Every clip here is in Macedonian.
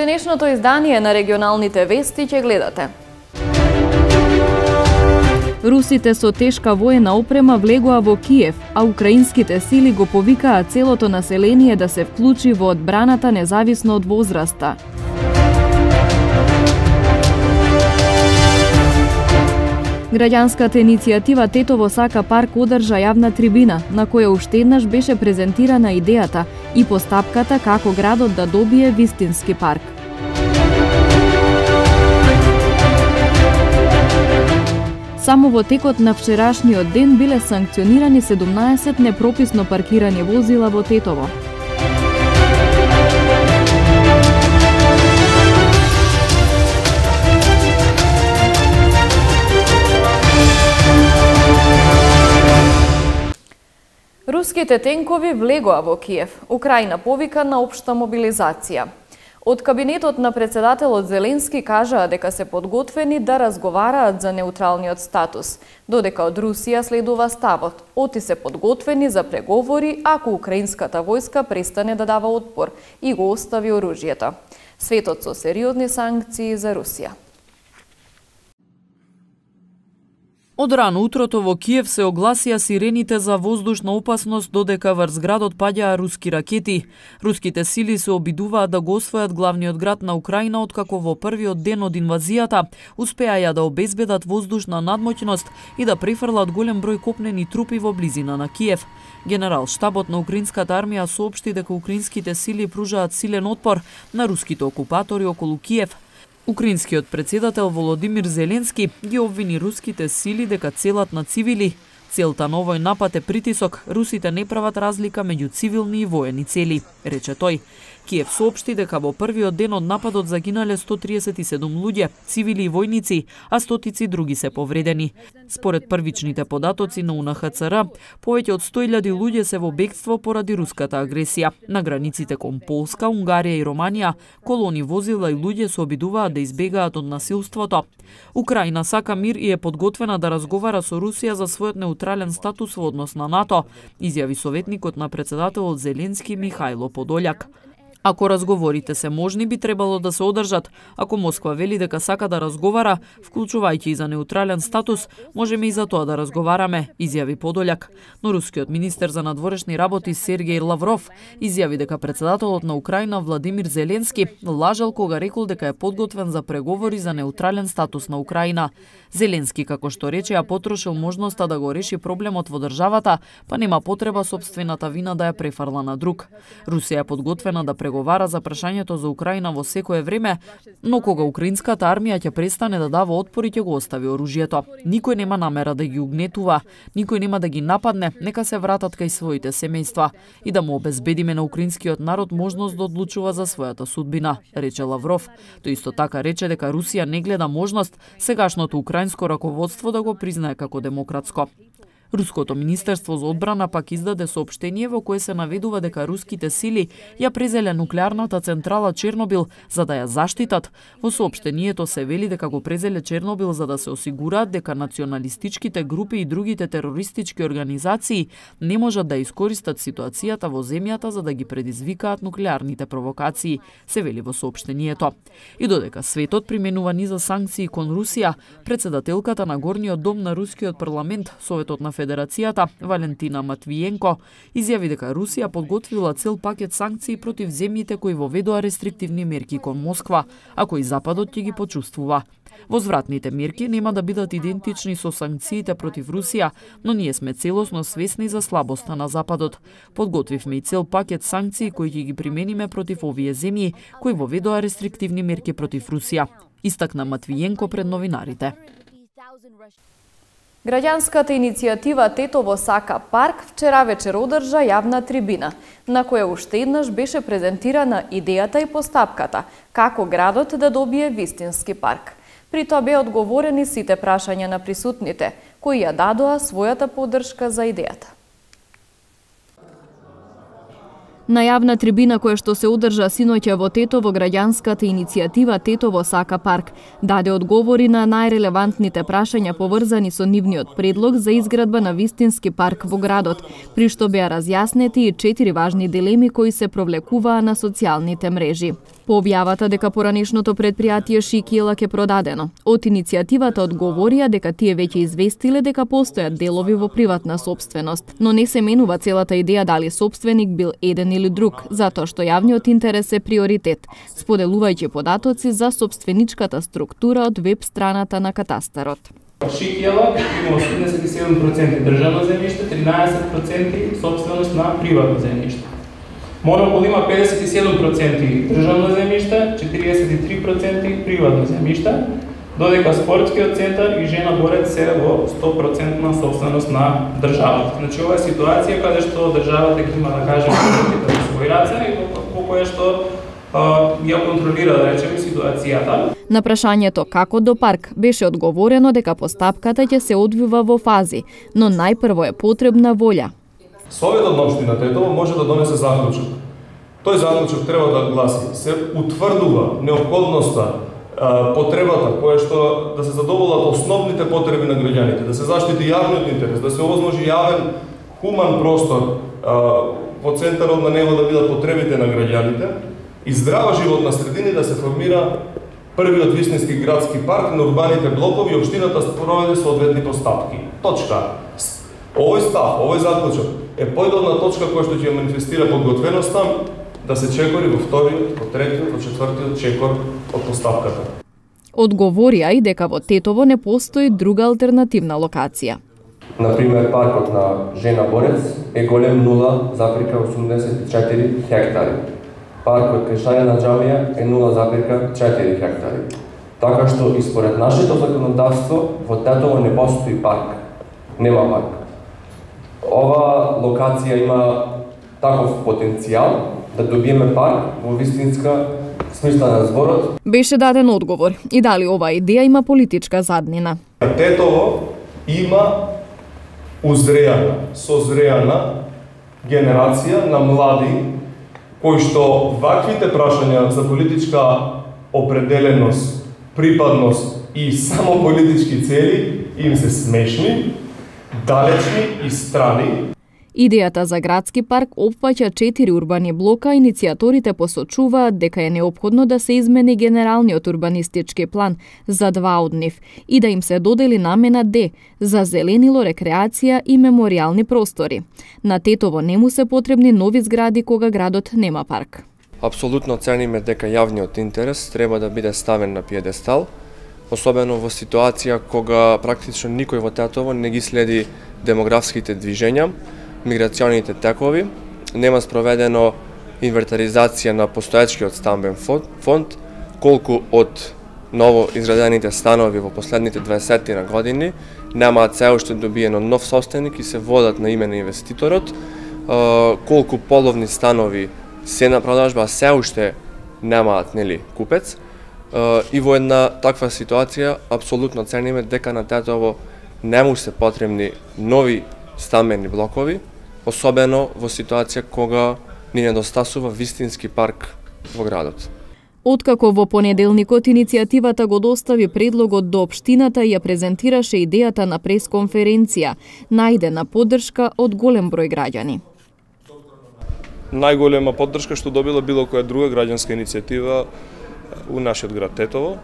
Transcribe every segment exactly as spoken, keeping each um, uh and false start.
денешното издание на регионалните вести ќе гледате. Русите со тешка воена опрема влегоа во Киев, а украинските сили го повикаа целото население да се вклучи во одбраната независно од возраста. Граѓанската иницијатива Тетово сака парк одржа јавна трибина, на која уште еднаш беше презентирана идејата и постапката како градот да добие вистински парк. Само во текот на вчерашниот ден биле санкционирани седумнаесет непрописно паркирани возила во Тетово. Руските тенкови влегоа во Киев. Украина повика на општа мобилизација. Од кабинетот на председателот Зеленски кажаа дека се подготвени да разговараат за неутралниот статус, додека од Русија следува ставот: оти се подготвени за преговори ако украинската војска престане да дава отпор и го остави оружјето. Светот со сериозни санкции за Русија. Од рано утрото во Киев се огласија сирените за воздушна опасност, додека врз градот паѓаа руски ракети. Руските сили се обидуваат да го освојат главниот град на Украина, откако во првиот ден од инвазијата успеаја да обезбедат воздушна надмоќност и да префрлат голем број копнени трупи во близина на Киев. Генерал штабот на украинската армија соопшти дека украинските сили пружаат силен отпор на руските окупатори околу Киев. Украинскиот председател Володимир Зеленски ги обвини руските сили дека целат на цивили. Целта на овој напад е притисок. Русите не прават разлика меѓу цивилни и воени цели, рече тој. Киев соопшти дека во првиот ден од нападот загинале сто триесет и седум луѓе, цивили и војници, а стотици други се повредени. Според првичните податоци на У Н Х Ц Р, повеќе од сто илјади луѓе се во бегство поради руската агресија. На границите кон Полска, Унгарија и Романија, колони возила и луѓе се обидуваат да избегаат од насилството. Украина сака мир и е подготвена да разговара со Русија за својот неутрален статус во однос на НАТО, изјави советникот на председателот Зеленски Михајло Подољак. Ако разговорите се можни, би требало да се одржат. Ако Москва вели дека сака да разговара, вклучувајќи и за неутрален статус, можеме и за тоа да разговараме, изјави Подољак. Но рускиот министер за надворешни работи Сергеј Лавров изјави дека председателот на Украина Владимир Зеленски лажал кога рекол дека е подготвен за преговори за неутрален статус на Украина. Зеленски, како што рече, ја потрошил можноста да го реши проблемот во државата, па нема потреба сопствената вина да ја префарла на друг. Русија е подготвена да преговара за прашањето за Украина во секое време, но кога украинската армија ќе престане да дава отпор и ќе го остави оружјето. Никој нема намера да ги угнетува, никој нема да ги нападне, нека се вратат кај своите семејства и да му обезбедиме на украинскиот народ можност да одлучува за својата судбина, рече Лавров. Тој исто така рече дека Русија не гледа можност сегашното украинско раководство да го признае како демократско. Руското министерство за одбрана пак издаде соопштение во кое се наведува дека руските сили ја презеле нуклеарната централа Чернобил за да ја заштитат. Во соопштението се вели дека го презеле Чернобил за да се осигураат дека националистичките групи и другите терористички организации не можат да искористат ситуацијата во земјата за да ги предизвикаат нуклеарните провокации, се вели во соопштението. И додека светот применува низа санкции кон Русија, председателката на Горниот дом на рускиот парламент, Советот на Федерацијата, Валентина Матвиенко, изјави дека Русија подготвила цел пакет санкции против земјите кои воведоа рестриктивни мерки кон Москва, а кои Западот ќе ги почувствува. Возвратните мерки нема да бидат идентични со санкциите против Русија, но ние сме целосно свесни за слабоста на Западот. Подготвивме и цел пакет санкции кои ќе ги примениме против овие земји кои воведоа рестриктивни мерки против Русија, истакна Матвиенко пред новинарите. Граѓанската иницијатива Тетово сака парк вчера вечер одржа јавна трибина, на која уште еднаш беше презентирана идејата и постапката како градот да добие вистински парк. При тоа беа одговорени сите прашања на присутните, кои ја дадоа својата поддршка за идејата. На јавна трибина која што се одржа синоќа во Тетово, граѓанската иницијатива Тетово сака парк даде одговори на најрелевантните прашања поврзани со нивниот предлог за изградба на вистински парк во градот, при што беа разјаснети и четири важни дилеми кои се провлекуваа на социјалните мрежи. По објавата дека поранешното предпријатие Шикиела ке продадено, од иницијативата одговорија дека тие веќе известиле дека постојат делови во приватна сопственост, но не се менува целата идеја дали сопственик бил еден или друг, затоа што јавниот интерес е приоритет, споделувајќи податоци за сопственичката структура од веб страната на катастарот. Шикиела има осемдесет и седум проценти државно земјиште, тринаесет проценти сопственост на приватно земјиште. Монопол има педесет и седум проценти државно земјиште, четириесет и три проценти приватно земјиште, додека спортскиот центар и Жена Борец се во сто проценти сопственост на државата. Значи ова е ситуација каде што државата ги има, да кажем, во свој раце и во која што а, ја контролира, да речеме, ситуацијата. На прашањето како до парк беше одговорено дека постапката ќе се одвива во фази, но најпрво е потребна волја. Советот на општина Тетово може да донесе заклучок. Тој заклучок треба да гласи: се утврдува неопходноста, потребата која што да се задоволат основните потреби на граѓаните, да се заштити јавниот интерес, да се овозможи јавен, хуман простор во центарот на него да бидат потребите на граѓаните и здрава животна средина, да се формира првиот вистински градски парк на урбаните блокови и општината спроведе соодветни постапки. Точка. Овој став, овој заклучок е појдовна точка која што ќе манифестира подготвеноста да се чекори во вториот, во третиот, во четвртиот чекор од постапката. Одговорија и дека во Тетово не постои друга алтернативна локација. Например, паркот на Жена Борец е голем нула запирка осумдесет и четири хектари. Паркот кај Шарена џамија е нула запирка четири хектари. Така што и според нашето законодавство во Тетово не постои парк. Нема парк. Ова локација има таков потенцијал да добиеме парк во вистинска смисла на зборот. Беше даден одговор и дали оваа идеја има политичка заднина. Тетово има узреана, созреана генерација на млади кои што ваквите прашања за политичка определеност, припадност и само политички цели им се смешни, далечни и страни. Идејата за градски парк опфаќа четири урбани блока, иницијаторите посочуваат дека е неопходно да се измени генералниот урбанистички план за два од нив и да им се додели намена Д за зеленило, рекреација и меморијални простори. На Тетово не му се потребни нови згради кога градот нема парк. Апсолутно цениме дека јавниот интерес треба да биде ставен на пиедестал, особено во ситуација кога практично никој во Тетово не ги следи демографските движења, миграционите текови, нема спроведено инвентаризација на постоечкиот стамбен фонд, колку од ново изградените станови во последните дваесет години немаат се уште добиено нов собственик и се водат на име на инвеститорот, колку половни станови се на продажба, а се уште немаат, нели, купец. И во една таква ситуација апсолутно цениме дека на Тетово не му се потребни нови стамбени блокови, особено во ситуација кога ни недостасува вистински парк во градот. Откако во понеделникот иницијативата го достави предлогот до општината и ја презентираше идејата на пресконференција, најдена поддршка од голем број граѓани. Најголема поддршка што добила било која друга граѓанска иницијатива у нашиот град Тетово,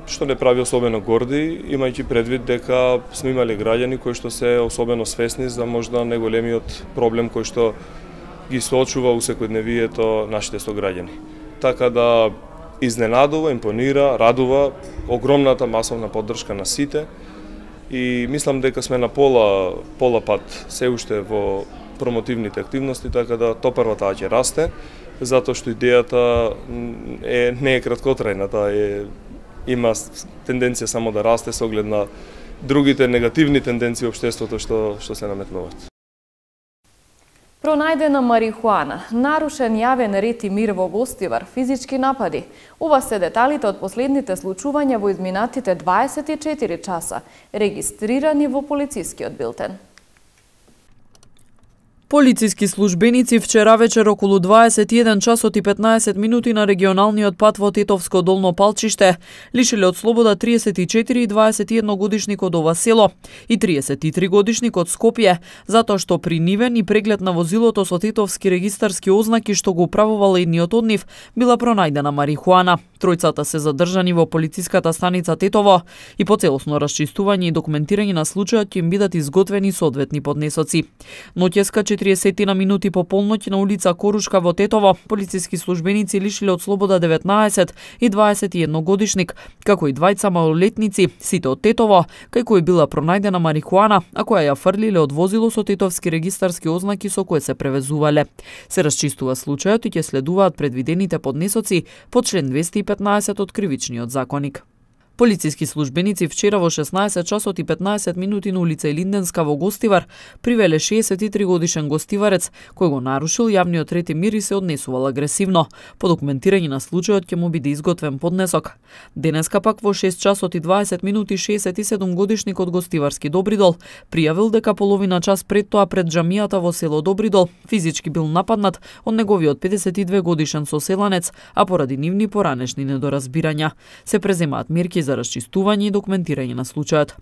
што не прави особено горди, имајќи предвид дека сме имали граѓани кои што се особено свесни за можда најголемиот проблем кој што ги соочува у секојдневието нашите сограѓани. Така да изненадува, импонира, радува огромната масовна поддршка на сите и мислам дека сме на пола пола пат се уште во промотивните активности, така да топарва таа ќе расте, затоа што идејата е не е краткотрајна, таа е има тенденција само да расте со оглед на другите негативни тенденции во општеството што што се наметнуваат. Пронајдена марихуана, нарушен јавен ред и мир во Гостивар, физички напади. Ова се деталите од последните случувања во изминатите дваесет и четири часа, регистрирани во полицискиот билтен. Полициски службеници вчера вечер околу дваесет и еден часот и петнаесет минути на регионалниот пат во Тетовско Долно Палчиште лишиле од слобода триесет и четири и дваесет и едно годишник од ова село и триесет и три годишник од Скопје, затоа што при нивен и преглед на возилото со тетовски регистарски ознаки што го управувал едниот од нив била пронајдена марихуана. Тројцата се задржани во полициската станица Тетово и по целосно расчистување и документирање на случајот ќе им бидат изготвени соодветни поднесоци. Ноќеска четириесет на минути по полноќ на улица Корушка во Тетово, полициски службеници лишиле од слобода деветнаесет и дваесет и едно годишник, како и двајца малолетници, сите од Тетово, кај кои била пронајдена марихуана, а која ја фрлиле од возило со тетовски регистарски ознаки со кои се превезувале. Се расчистува случајот и ќе следуваат предвидените поднесоци по член двесте и петнаесет од Кривичниот законик. Полициски службеници вчера во шеснаесет часот и петнаесет минути на улица Илинденска во Гостивар привеле шеесет и три годишен гостиварец кој го нарушил јавниот ред и мир и се однесувал агресивно. По документирање на случајот ќе му биде изготвен поднесок. Денеска пак во шест часот и дваесет минути шеесет и седум годишник од Гостиварски Добридол пријавил дека половина час пред тоа пред џамијата во село Добридол физички бил нападнат од неговиот педесет и две годишен соселанец, а поради нивни поранешни недоразбирања се преземаат мерки за расчистување и документирање на случајот.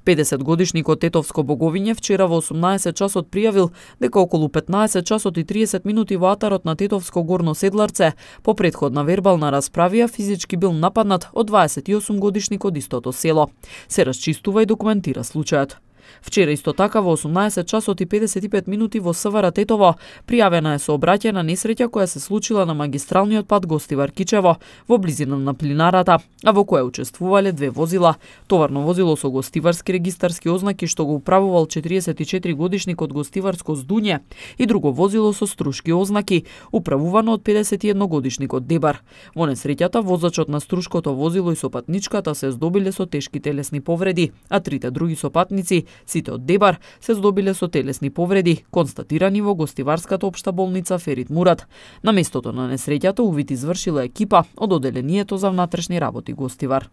педесет годишникот Тетовско Боговиње вчера во осумнаесет часот пријавил дека околу петнаесет часот и триесет минути во атарот на Тетовско Горно Седларце по претходна вербална расправија физички бил нападнат од дваесет и осум годишник од истото село. Се расчистува и документира случајот. Вчера исто така во осумнаесет часот и педесет и пет минути во СВР Тетово пријавена е сообраќајна несреќа која се случила на магистралниот пат Гостивар Кичево во близина на плинарата, а во која учествувале две возила. Товарно возило со гостиварски регистарски ознаки што го управувал четириесет и четири годишник од Гостиварско Здуње и друго возило со струшки ознаки управувано од педесет и едно годишник од Дебар. Во несреќата возачот на струшкото возило и сопатничката се здобиле со тешки телесни повреди, а трите други сопатници, сите од Дебар, се здобиле со телесни повреди, констатирани во Гостиварската општа болница Ферит Мурат. На местото на несреќата увид извршила екипа од Оделението за внатрешни работи Гостивар.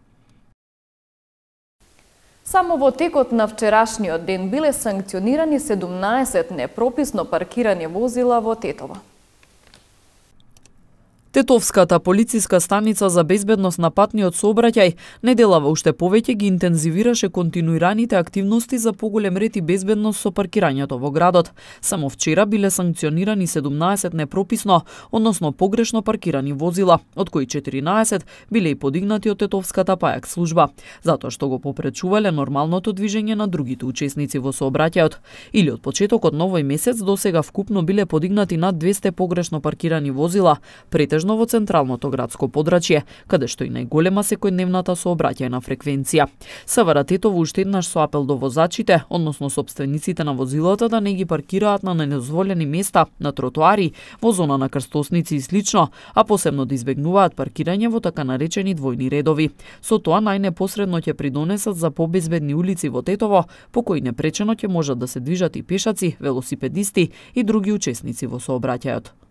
Само во текот на вчерашниот ден биле санкционирани седумнаесет непрописно паркирани возила во Тетово. Тетовската полициска станица за безбедност на патниот сообраќај неделава уште повеќе ги интензивираше континуираните активности за поголем ред и безбедност со паркирањето во градот. Само вчера биле санкционирани седумнаесет непрописно, односно погрешно паркирани возила, од кои четиринаесет биле и подигнати од Тетовската пајак служба, затоа што го попречувале нормалното движење на другите учесници во сообраќајот. Или од почетокот на овој месец до сега вкупно биле подигнати над двесте погрешно паркирани возила, претежно во централното градско подрачје, каде што и најголема секојдневната сообраќајна фреквенција. СВР Тетово уште еднаш со апел до возачите, односно сопствениците на возилата, да не ги паркираат на недозволени места, на тротоари, во зона на крстосници и слично, а посебно да избегнуваат паркирање во така наречени двојни редови. Со тоа најнепосредно ќе придонесат за побезбедни улици во Тетово, по кои непречено ќе можат да се движат и пешаци, велосипедисти и други учесници во сообраќајот.